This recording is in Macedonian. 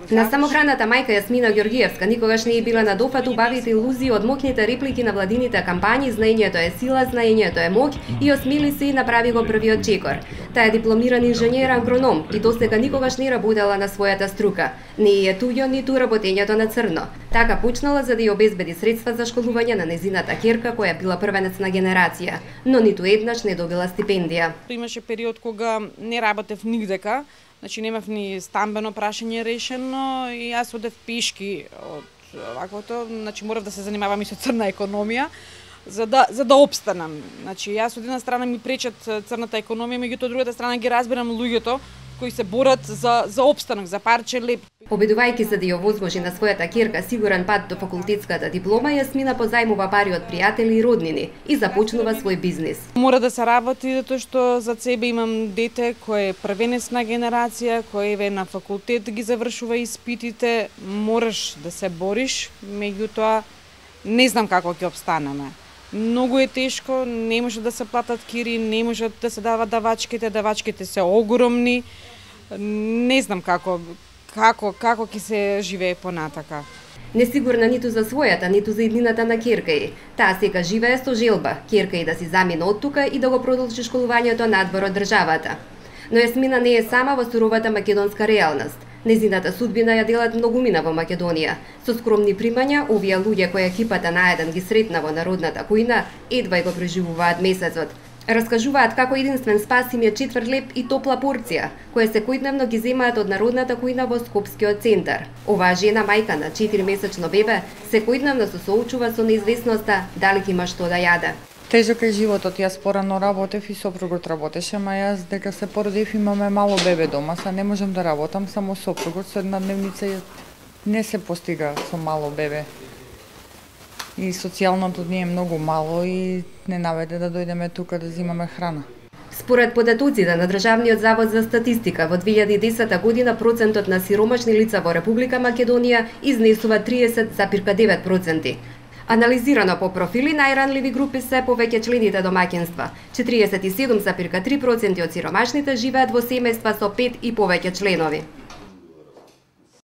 На самохраната мајка Јасмина Ѓоргиевска никогаш не е била на дофат убавите илузии од моќните реплики на владините кампањи "Знаењето е сила, знаењето е моќ" и осмели се и направи го првиот чекор. Таа е дипломиран инженер агроном и досега никогаш не работела на својата струка. Не е туѓо ниту работењето на црно. Така почнала за да ја обезбеди средства за школување на незината ќерка која била првенец на генерација, но ниту еднаш не добила стипендија. Имаше период кога не работев нигдека. Значи немав ни стамбено прашање решено и јас одев пешки од ваквото, значи морав да се занимавам и со црна економија за да опстанам. Значи јас од една страна ми пречат црната економија, меѓутоа од другата страна ги разбирам луѓето кои се борат за опстанок, за парче леп. Обидувајќи се да ја овозможи на својата ќерка сигурен пат до факултетската диплома, Јасмина позајмува пари од пријатели и роднини и започнува свој бизнис. Мора да се работи затоа што за себе имам дете кој е првенец на генерација, кој е на факултет ги завршува испитите, мораш да се бориш, меѓутоа не знам како ќе опстанеме. Многу е тешко, не може да се платат кири, не може да се дават давачките се огромни. Не знам како ќе се живее понатака. Несигурна ниту за својата, ниту за иднината на ќерка ѝ. Таа сега живее со желба, ќерка ѝ да си замине од тука и да го продолжи школувањето надвор од државата. Но Јасмина не е сама во суровата македонска реалност. Незината судбина ја делат многумина во Македонија. Со скромни примања, овие луѓе кои екипата наеден ги сретна во народната кујна, едва го преживуваат месецот. Раскажуваат како единствен спас им е 4 леп и топла порција, која секојдневно ги земаат од народната кујна во Скопскиот центар. Оваа жена, мајка на 4-месечно бебе, секојдневно се соочува со неизвестноста дали ќе има што да јаде. Тежок е животот, јас порано работев и сопругот работеше, ама јас дека се породив имаме мало бебе дома, са не можам да работам, само сопругот со една дневница не се постига со мало бебе. И социјалното ни е многу мало и не наведе да дојдеме тука да земаме храна. Според податоците на Државниот завод за статистика, во 2010 година процентот на сиромашни лица во Република Македонија изнесува 30,9%. Анализирано по профили, најранливи групи се повеќе члените домаќинства. 47,3% од сиромашните живеат во семејства со 5 и повеќе членови.